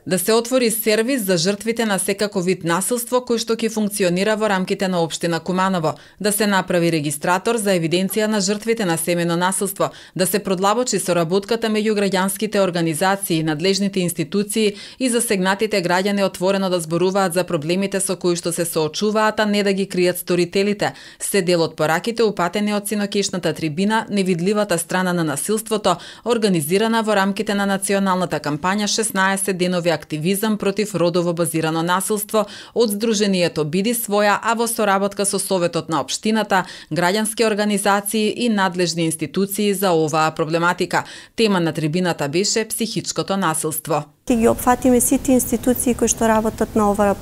Да се отвори сервис за жртвите на секако вид насилство кој што ќе функционира во рамките на општина Куманово, да се направи регистратор за евиденција на жртвите на семено насилство, да се продлабочи соработката меѓу граѓанските организации, надлежните институции и засегнатите граѓани отворено да зборуваат за проблемите со кои што се соочуваат, а не да ги кријат сторителите, се дел од пораките упатени од синокешната трибина "Невидливата страна на насилството", организирана во рамките на националната кампања 16 денови активизам против родово базирано насилство од Сдруженијето Биди своја, а во соработка со Советот на општината, граѓански организации и надлежни институции за оваа проблематика. Тема на трибината беше психичкото насилство. Ќе ги опфатиме сите институции кои што работат на оваа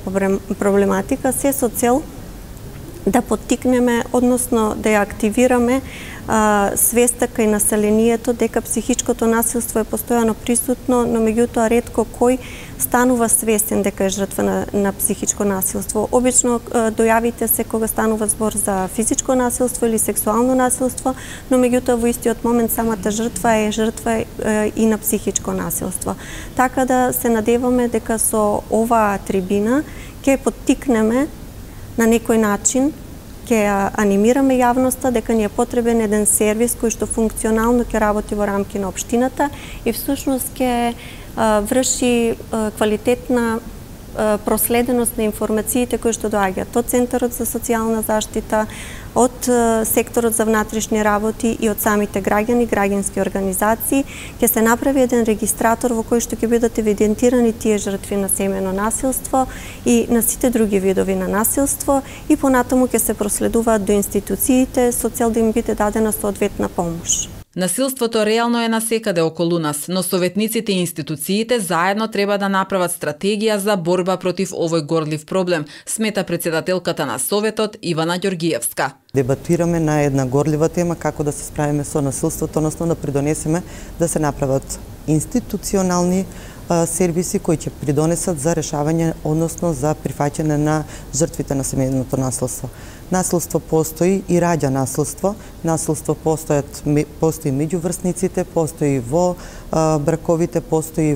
проблематика, се со цел да поттикнеме, односно да ја активираме свеста кај населението дека психичкото насилство е постојано присутно, но меѓутоа ретко кој станува свесен дека е жртва на психичко насилство. Обично дојавите се кога станува збор за физичко насилство или сексуално насилство, но меѓутоа во истиот момент самата жртва е жртва и на психичко насилство. Така да се надеваме дека со оваа трибина ќе поттикнеме на некој начин, ќе анимираме јавноста дека ни е потребен еден сервис кој што функционално ќе работи во рамки на општината и всушност ќе врши квалитетна проследеност на информациите кои што доаѓаат од Центарот за социјална заштита, од секторот за внатрешни работи и од самите граѓани, граѓански организации. Ќе се направи еден регистратор во кој што ќе бидат евидентирани тие жртви на семено насилство и на сите други видови на насилство и понатаму ќе се проследуваат до институциите со цел да им биде дадена соодветна помош. Насилството реално е насекаде околу нас, но советниците и институциите заедно треба да направат стратегија за борба против овој горлив проблем, смета председателката на Советот Ивана Ѓоргиевска. Дебатираме на една горлива тема како да се справиме со насилството, односно да придонесеме да се направат институционални сервиси кои ќе придонесат за решавање, односно за прифаќање на жртвите на семејното насилство. Насилство постои и раѓа насилство. Насилство постои меѓу врсниците, постои во браковите, постои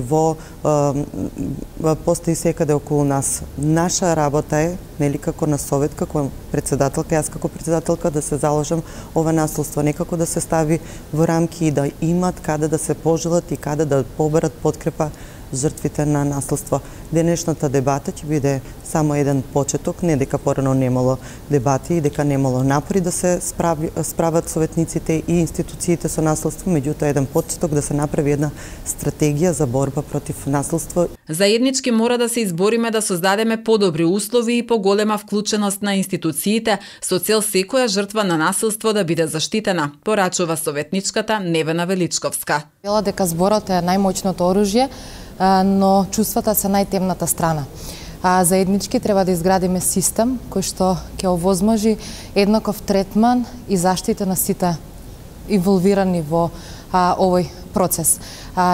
секаде околу нас. Наша работа е, нели како на Совет, како председателка, јас како председателка да се заложам ова насилство некако да се стави во рамки и да имат каде да се пожелат и каде да поберат подкрепа жртвите на насилство. Денешната дебата ќе биде само еден почеток, не дека порано немало дебати и дека немало напори да се справат советниците и институциите со насилство, меѓутоа еден почеток да се направи една стратегија за борба против насилство. Заеднички мора да се избориме да создадеме подобри услови и поголема вклученост на институциите со цел секоја жртва на насилство да биде заштитена, порачува советничката Невена Величковска. Вела дека зборот е најмоćното оружје, но чувствата се најтемната страна. Заеднички треба да изградиме систем кој што ќе овозможи еднаков третман и заштита на сите инволвирани во овој процес.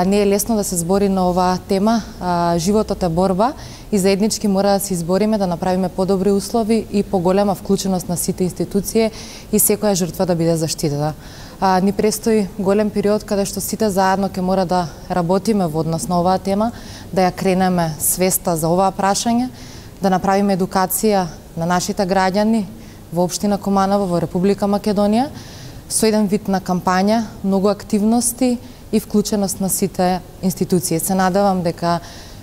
Не е лесно да се збори на оваа тема, животот е борба и заеднички мора да се избориме да направиме подобри услови и поголема вклученост на сите институции и секоја жртва да биде заштитена. Ни престои голем период каде што сите заедно ќе мора да работиме во однос на оваа тема, да ја кренеме свеста за оваа прашање, да направиме едукација на нашите граѓани во општина Куманово, во Република Македонија, со еден вид на кампања, многу активности и вклученост на сите институции. Се надевам дека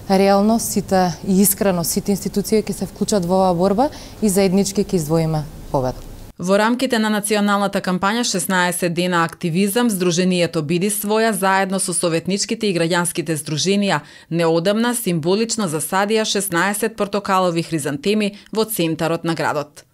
реално сите и искрено сите институции ќе се вклучат во оваа борба и заеднички ќе издвоиме победа. Во рамките на националната кампања 16 дена активизам, Сдруженијето Биди своја заедно со советничките и граѓанските здруженија неодамна символично засадија 16 портокалови хризантеми во центарот на градот.